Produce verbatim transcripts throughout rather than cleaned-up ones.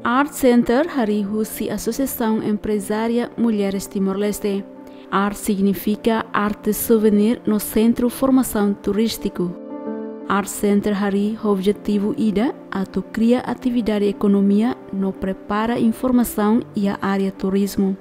Art Center harii husi Asosiasaun Emprezária Mulheres Timor-Leste. Art signifika arte souvenir no sentru formasaun turístiku. Art Center harii ho objetivu ida atu kria atividade ekonomia no prepara informasaun iha área turizmu.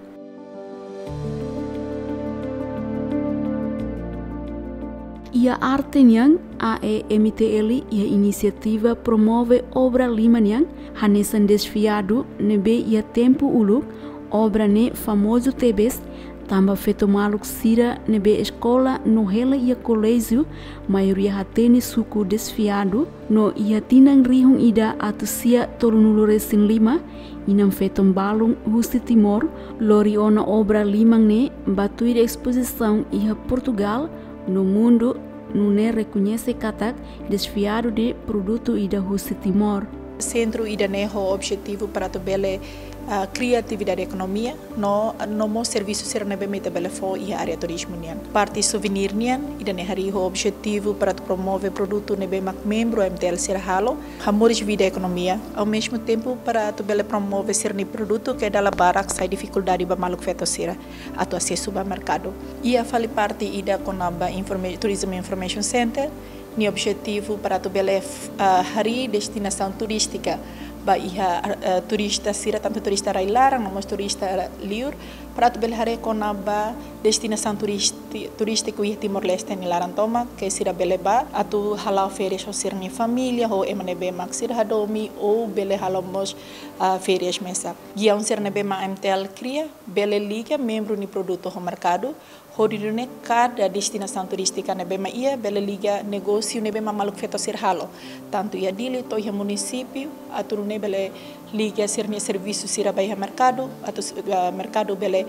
Iha arte nian, A E M T L iha inisiativa promove obra liman nian, hanesan desfiadu ne'ebé iha tempu uluk, obra ne'e famozu tebes, tanba feto maluk sira ne'ebé eskola no hela iha koléjiu, maioria hatene suku desfiadu, no iha tinan rihun ida atus sia tolunulu resin lima, inan-feton balun husi Timor lori ona obra liman ne'e ba tuir espozisaun iha Portugal no mundu, nune'e rekoñese katak desfiadu ne'e produtu ida husi Timor. Sentru ida-ne'e ho objetivu para atu bele, ah, kria atividade ekonomia no, no mós servisu sira ne'ebé mak ita bele fó iha área turizmu nian. Parte souvenir nian, ida-ne'e harii ho objetivu para atu promove produtu ne'ebé mak membru A M T L sira halo, hamoris vida ekonomia, ao mesmo tempo para atu bele promove sira-nia produtu ke dala barak sai difikuldade ba maluk feto sira atu asesu ba merkadu. Iha fali parte ida kona-ba informa-, Tourism Information Center, nia objetivu para atu bele, ah, harii destinasaun turístika ba iha, ah, turista sira, tantu turista rai-laran, no mós turista liur, para atu bele haree kona-ba destinasaun turisti-, turístiku iha Timor-Leste nia laran tomak, ke sira bele bá atu hala'o férias ho sira-nia família, ho ema ne'ebé mak sira hadomi, ou bele halo mós, ah, férias mesak. Giaun sira ne'ebé mak A M T L kria, bele liga membru nia produtu ho merkadu, hodi nune'e kada destinasaun turístika ne'ebé mak iha, bele liga negósiu ne'ebé mak maluk feto sira halo. Tantu iha Dili to'o iha munisípiu, atu nune'e bele liga sira-nia servisu sira ba iha merkadu, atu, eh, merkadu bele,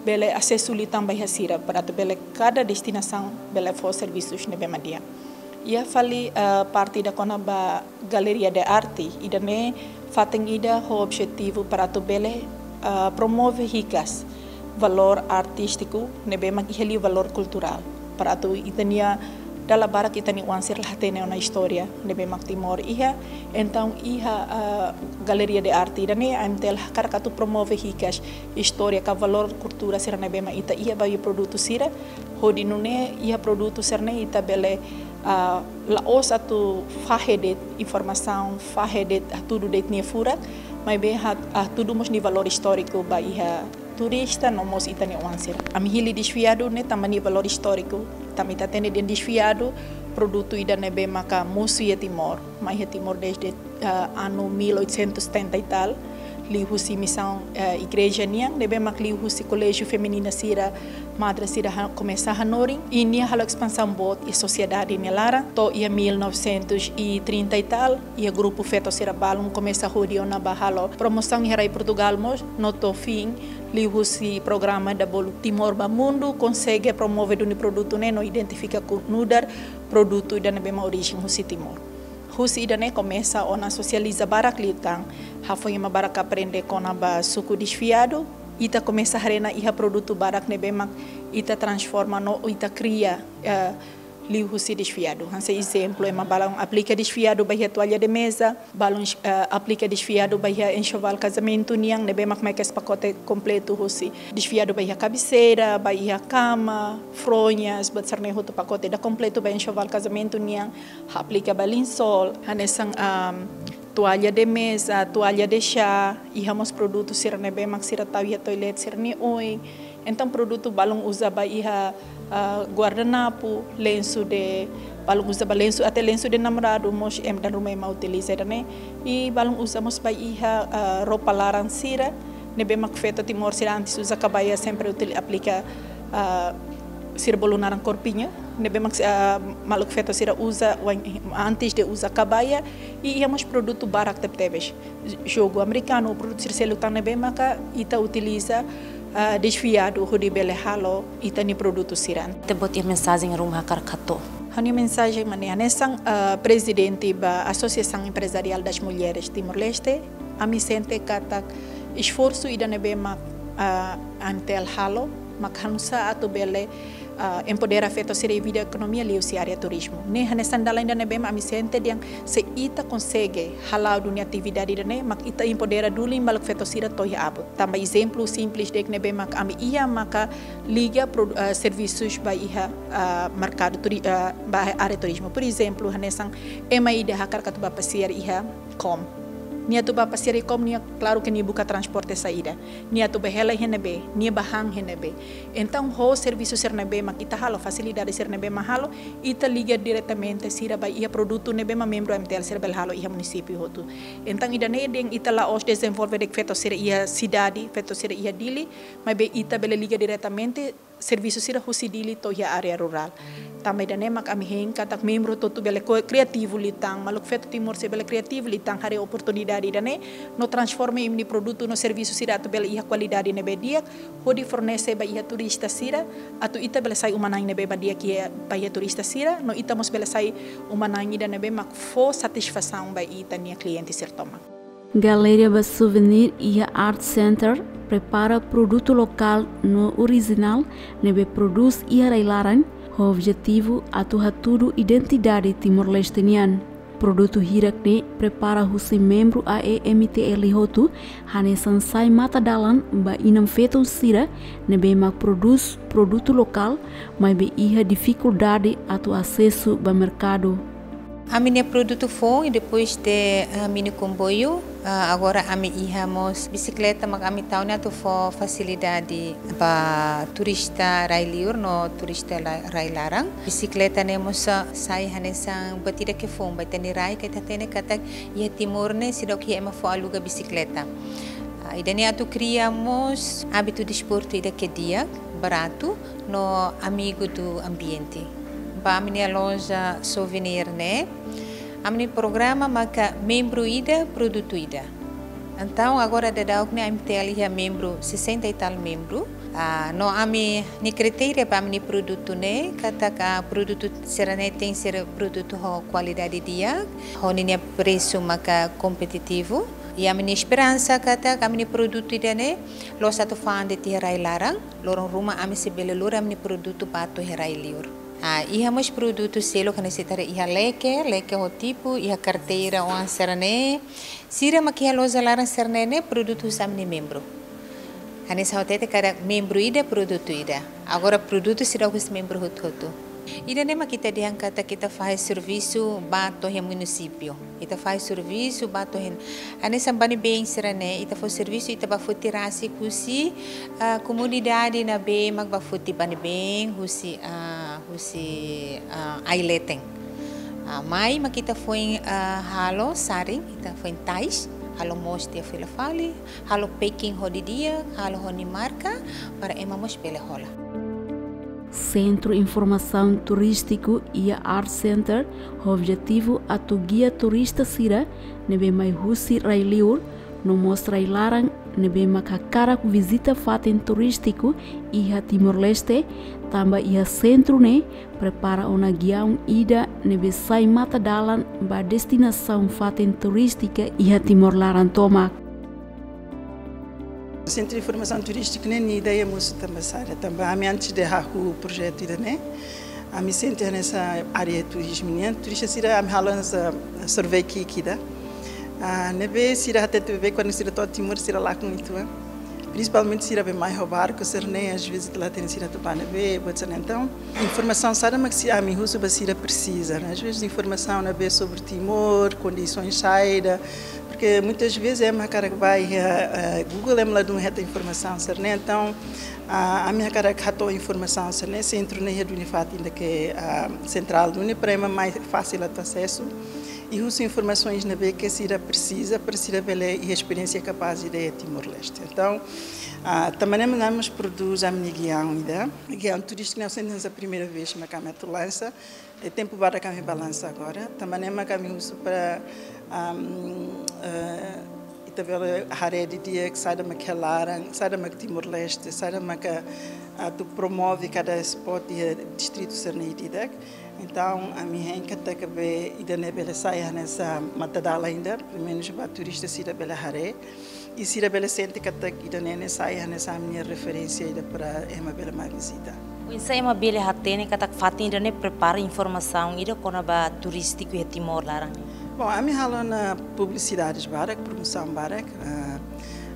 bele asesu liután ba iha sira, para atu bele kada destinasaun bele fó servisus ne'ebé mak di'ak. Iha fali, eh, parte ida kona-ba galeria de arte, ida-ne'e fatin ida ho objetivu para atu bele, ah, promove hikas valór artístiku ne'ebé mak iha liu valór kulturál. Para atu ita-nia, dala barak ita-nia oan sira la hatene ona istória ne'ebé mak Timor iha. Entaun iha, ah, galeria de arte ida-ne'e A M T L hakarak atu promove hikas istória ka valór kultura sira ne'ebé mak ita iha ba iha produtu sira, hodi nune'e iha produtu sira-ne'e ita bele, ah, la'ós atu fahe de'it informasaun, fahe de'it, ah, hatudu de'it nia furak, maibé ha-, ah, hatudu mós nia valór istóriku ba iha turista no mós ita-nia oan sira. Ami hili desfiadu ne'e tanba nia valór istóriku, tanba ita hatene dehan desfiadu produtu ida ne'ebé maka mosu iha Timor, mai iha Timor desde, ah, anu mil oitocentos e setenta e tal, liuhusi misaun, eh, igreja nian, ne'ebé mak liuhusi koléjiu feminina sira, madre sira ha-, komesa hanorin, i nia halo espansaun boot iha sosiedade nia laran, to'o iha mil novecentos e trinta e tal, iha grupu feto sira balun komesa hodi ona bá halo promosaun iha rai Portugal mós, no to'o fin, liuhusi programa ida bolu Timor ba Mundu, konsege promove duni produtu ne'e no identifika ku nu'udar produtu ida ne'ebé mak orijen husi Timor. Husi ida-ne'e komesa ona sosializa barak liután, hafoin ema barak aprende kona-ba suku desfiadu, ita komesa haree ona iha produtu barak ne'ebé mak ita transforma no ita kria, eh, liuhusi desfiadu. Hanesan ezemplu, ema balun aplika desfiadu ba iha toalla de mesa, balun, eh, aplika desfiadu ba iha enxoval kazamentu nian, ne'ebé mak mai kedas pakote kompletu husi. Desfiadu ba iha kabeseira, ba iha kama, fronhas, buat sira-ne'e hotu pakote ida kompletu ba enxoval kazamentu nian, aplika ba linsol, hanesan, am, toalla de mesa, toalla de chá, iha mós produtu sira ne'ebé mak sira tau iha toilet sira-nia oin. Entaun produtu balun uza ba iha, ah, guardanapu, lensu de, balun uza ba lensu, até lensu de namoradu mós ema dala ruma ema utiliza ida-ne'e. I balun uza mós ba iha, ah, roupa laran sira, ne'ebé mak feto Timor sira antes uza kabaia sempre util-, aplika, ah, sira bolu naran corpinho, ne'ebé mak, ah, maluk feto sira uza, wain, antes de uza kabaia, i iha mós produtu barak tebetebes. Jogu amerikanu, produtu sira seluk tan ne'ebé maka ita utiliza, ah, desfiadu hodi bele halo ita-nia produtu sira. Ita-boot iha mensajen ruma hakarak hato'o? Ha'u-nia mensajen mak ne'e hanesan, ah, prezidente ba Associação Empresarial das Mulheres Timor-Leste, ami sente katak esforsu ida ne'ebé mak, ah, A M T L halo, mak hanusá atu bele ah, empodera feto sira iha vida ekonomia liuhusi área turizmu. Ne'e hanesan dalan ida ne'ebé mak ami sente dehan se ita konsege hala'o duni atividade ida-ne'e, mak ita empodera duni maluk feto sira to'o iha abut. Tanba ezemplu simples de'it ne'ebé mak ami iha maka liga produ-, ah, servisus ba iha, ah, merkadu turi-, ah, ba área turizmu. Por ezemplu, hanesan ema ida hakarak atu bá pasiar iha Kom. Nia atu bá pasiar iha Kom, nia klaru ke nia buka transporte saida. Nia atu bá hela iha ne'ebé, nia bá han iha ne'ebé. Entaun, ho servisu sira ne'ebé mak ita halo, fasilidade sira ne'ebé mak halo, ita liga diretamente sira ba iha produtu ne'ebé mak membru M T L sira bele halo iha munisípiu hotu. Entaun, ida-ne'e dehan ita la'ós dezenvolve de'it feto sira iha sidade, feto sira iha Dili, maibé ita bele liga diretamente servisu sira husi Dili to'o iha área rurál. Tanba ida-ne'e mak ami hein katak membru hotu-hotu bele ko-, kriativu liután, maluk feto Timor sira bele kriativu liután, haree oportunidade ida-ne'e, no transforma imi-nia produtu no servisu sira atu bele iha kualidade ne'ebé di'ak, hodi fornese ba iha turista sira, atu ita bele sai uma-na'in ne'ebé mak di'ak iha, ba iha turista sira, no ita mós bele sai uma-na'in ida ne'ebé mak fó satisfasaun ba ita-nia kliente sira tomak. Galeria ba souvenir iha Art Center prepara produtu lokál no orijinál ne'ebé prodús iha rai-laran, ho objetivu atu hatudu identidade Timor-Leste nian. Produtu hirak ne'e prepara husi membru A E M T L hotu, hanesan sai mata-dalan ba inan-feton sira ne'ebé mak prodús produtu lokál, maibé iha difikuldade atu asesu ba merkadu. Ami-nia produtu foun, i depois de, ah, mini komboiu, ah, agora ami iha mós bisikleta mak ami tau ne'e atu fó fasilidade ba turista rai-liur no turista la-, rai-laran. Bisikleta ne'e mós, ah, sai hanesan buat ida ke foun, ba ita-nia rai ke ita hatene katak iha Timor ne'e seidauk iha ema fó aluga bisikleta. Ah, ida-ne'e atu kria mós ábitu desportu ida ke di'ak, baratu, no amigu do ambiente. Ba ami-nia loja souvenir ne'e, ami-nia programa maka membru ida, produtu ida. Entaun, agora daudauk ne'e M T L iha membru, sessenta e tal membru. Ah, no ami-nia kritéria ba ami-nia produtu ne'e, katak produtu sira-ne'e tenke ser produtu ho kualidade di'ak, ho ninia presu maka kompetitivu. I ami-nia esperansa katak ami-nia produtu ida-ne'e, la'ós atu fa'an de'it iha rai-laran, loron ruma ami sei bele lori ami-nia produtu ba to'o iha rai-liur. Ah, iha mós produtu seluk hanesan ita haree iha leke, leke ho tipu, iha karteira oan sira-ne'e. Sira mak iha loja laran sira-ne'e ne'e produtu husi ami-nia membru. Hanesan ha'u hatete katak membru ida produtu ida. Agora produtu sira husi membru hotu-hotu. Ida-ne'e mak ita dehan katak ita fahe servisu ba to'o iha munisípiu. Ita fahe servisu ba to'o iha. Hanesan bani-been sira-ne'e, ita fó servisu, ita bá foti rasik husi, ah, komunidade ne'ebé mak bá foti bani-been, husi, ah, husi, ah, ai-leten. Ah, mai mak ita foin, ah, halo saring, ita foin tais, halo moos tiha fila fali, halo packing ho di'ak, halo ho nia marka, para ema mós bele hola. Sentru Informasaun Turístiku iha Art Center ho objetivu atu gia turista sira ne'ebé mai husi rai-liur, no mós rai-laran ne'ebé mak hakarak vizita fatin turístiku iha Timor-Leste, tanba iha sentru ne'e prepara ona giaun ida ne'ebé sai mata-dalan ba destinasaun fatin turístika iha Timor laran tomak. Sentru Informasaun Turístiku ne'e nia ideia mosu tanba sá, tanba ami antes de hahú projetu ida-ne'e, ami sente hanesan área turizmu nian, turista sira ami halo hanesan survey ki'ik ida. Ah, ne'ebé sira hatete be kuandu sira to'o Timor sira lakon uitoan. Prinsipalmente sira be mai ho barku sira-ne'e, às vezes la hatene sira atu bá ne'ebé, buat sira-ne'e. Entaun, informasaun saida mak ami husu ba sira presiza, ne'e? Às vezes informasaun ne'ebé sobre Timor, kondisaun saida, porque muitas vezes ema hakarak bá iha, eh, Google ema ladún hetan informasaun sira-ne'e. Entaun, ah, ami hakarak hato'o informasaun sira-ne'e, sentru ne'e iha duni fatin ida ke, ah, sentrál duni para ema mais fásil atu asesu. I husu informasaun ne'ebé ke sira presiza, para sira bele iha esperiénsia kapás ida iha Timor-Leste. Entaun, ah, tanba ne'e mak ami mós prodús ami-nia giaun ida. Giaun turístiku ne'e hanesan primeira vez mak ami atu lansa. I tempu badak ami bá lansa agora. Tanba ne'e mak ami husu para, am, eh, ita bele haree didi'ak saida mak iha laran, saida mak Timor-Leste, saida mak atu promove kada spot iha distritu sira-ne'e ida-idak. Entaun, ami hein katak be ida-ne'e bele sai hanesan mata-dalan ida, pelumenus ba turista sira bele haree. I sira bele sente katak ida-ne'e ne'e sai hanesan ami-nia referénsia ida para ema bele mai vizita. Oinsá ema bele hatene katak fatin ida-ne'e prepara informasaun ida kona-ba turístiku iha Timor laran? Bom, ami halo ona publisidade barak, promosaun barak. Ah,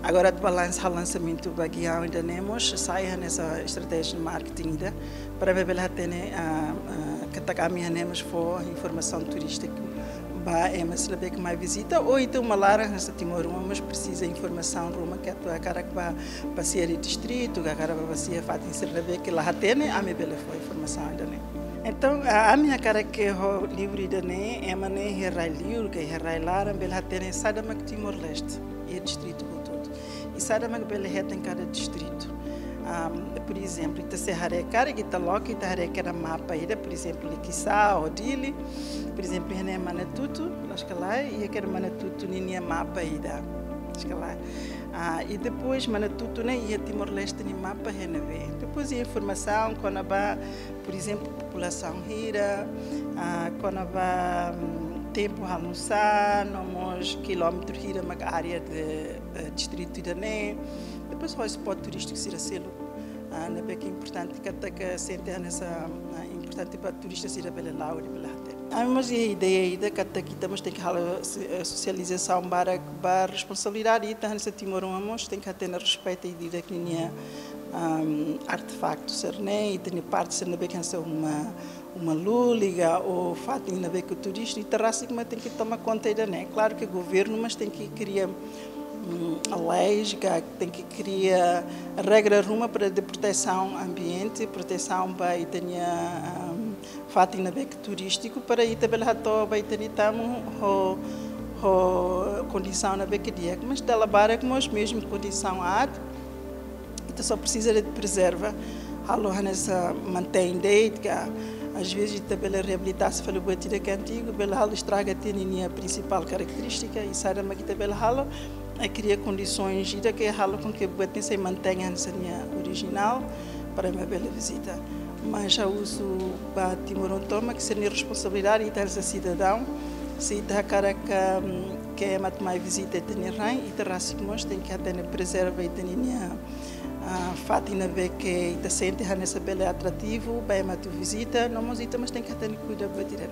agora atu ba lansa, halo lansamentu ba giaun ida-ne'e mós, sai hanesan estratéjia marketing ida, para bele hatene, ah, ah, katak ami hanesan mós fó informasaun turístika ba ema sira ne'ebé ke mai vizita, ou entaun malae hanesan timoroan mós presiza informasaun ruma ke atu hakarak ba, ba sira iha distritu, ka hakarak ba, ba sira iha fatin sira ne'ebé ke la hatene, ami bele fó informasaun ida-ne'e. Entaun, a, ami hakarak ke ho livru ida-ne'e, ema ne'e iha rai-liur, ka iha rai-laran, bele hatene saida mak Timor-Leste, iha distritu hotu-hotu. I saida mak bele hetan kada distritu. Am, por ezemplu, ita sei haree karik, ita loke, ita haree karik mapa ida, por ezemplu, Likisá ou Dili, por ezemplu, iha ne'e Manatutu, loos ka lae, iha karik Manatutu ninia mapa ida, loos ka lae. Ah, i depois Manatutu ne'e iha Timor-Leste nia mapa iha ne'ebé. Depois iha informasaun kona-ba, por ezemplu, populasaun hira, ah, kona-ba, hum, tempu halo nu'usá, no mós kilómetru hira mak área de, eh, distritu ida-ne'e. Depois hotspot turístiku sira seluk, ah, ne'ebé ke importante, katak sente hanesan, ah, importante ba turista sira bele la'o, bele hatene. Ami mós iha ideia ida katak ita mós tenke halo so-, eh, sosializasaun barak ba responsabilidade ita hanesan timoroan mós tenke hatene respeita ida-idak ninia, am, artefaktu sira-ne'e, ita-nia parte sira ne'ebé ke hanesan uma, uma lulik ka ou fatin ne'ebé ke turístiku, ita rasik mak tenke toma konta ida-ne'e. Klaru ke governu mós tenke kria, mm, leis ka tenke kria regra ruma para de protesaun ambiente, protesaun ba ita-nia, am, fatin ne'ebé ke turístiku para ita bele hato'o ba ita-nia tamu ho, ho kondisaun ne'ebé ke di'ak. Mas dala barak mós mezmu kondisaun aat, ita só presiza de prezerva, halo hanesan mantein de'it ka, às vezes ita bele reabilita, se fali buat ida ke antigu, bele halo estraga tiha ninia prinsipál karakterístika, i saida mak ita bele halo, é kria kondisoens ida ke halo com que buat ne'e sei mantein hanesan nia orijinál para ema bele vizita. Mas ha'u husu ba timoroan tomak sira-nia responsabilidade, ita hanesan sidadaun, se ita hakarak, hum, ke ema atu mai vizita ita-nia rain, ita rasik mós tenke hatene prezerva ita-nia, ah, fatin ne'ebé ke ita sente hanesan bele atrativu ba ema atu vizita, no mós ita mós tenke hatene kuidadu ba ita-nia.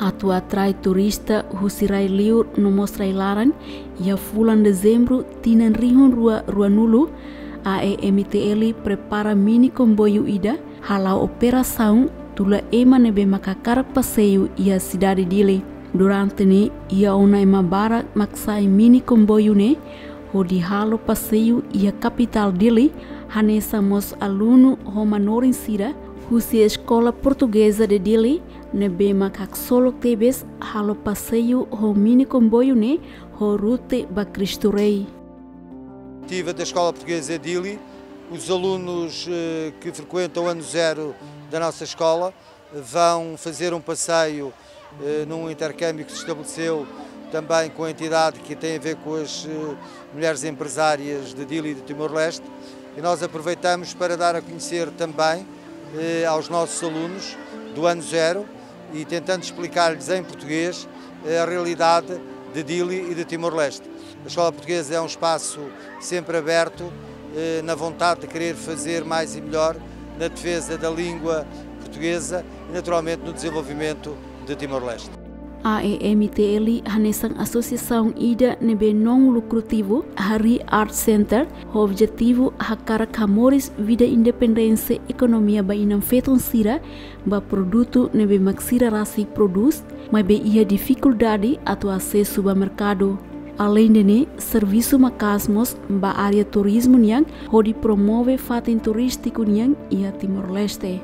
Atu atrai turista husi rai-liur no mós rai-laran, iha fulan Dezembru tinan rihun rua ruanulu, A E M T L prepara mini komboiu ida hala'o operasaun tula ema ne'ebé mak hakarak paseiu iha sidade Dili. Durante ne'e iha ona ema barak mak sa'e mini komboiu ne'e hodi halo paseiu iha kapitál Dili, hanesan mós alunu ho manorin sira husi Escola Portuguesa de Dili, ne'ebé mak haksolok tebes halo paseiu ho mini komboiu ne'e ho rute ba Cristo Rei. Ativa da Escola Portuguesa de Dili, os alunos, eh, que frequentam o ano zero da nossa escola vão fazer um passeio, eh, num intercâmbio que se estabeleceu também com a entidade que tem a ver com as, eh, mulheres empresárias de Dili e de Timor-Leste. E nós aproveitamos para dar a conhecer também, eh, aos nossos alunos do ano zero e tentando explicar-lhes em português, eh, a realidade de Dili e de Timor-Leste. A Escola Portuguesa é um espaço sempre aberto, eh, na vontade de querer fazer mais e melhor na defesa da língua portuguesa e, naturalmente, no desenvolvimento de Timor-Leste. A E M T L hanesan asosiasaun ida ne'ebé non lukrativu, harii Art Center, ho objetivu hakarak hamoris vida independénsia ekonomia ba inan-feton sira, ba produtu ne'ebé mak sira rasik prodús, maibé iha difikuldade atu asesu ba merkadu. Aleinde ne'e, servisu maka'as mós ba área turizmu nian, hodi promove fatin turístiku nian iha Timor-Leste.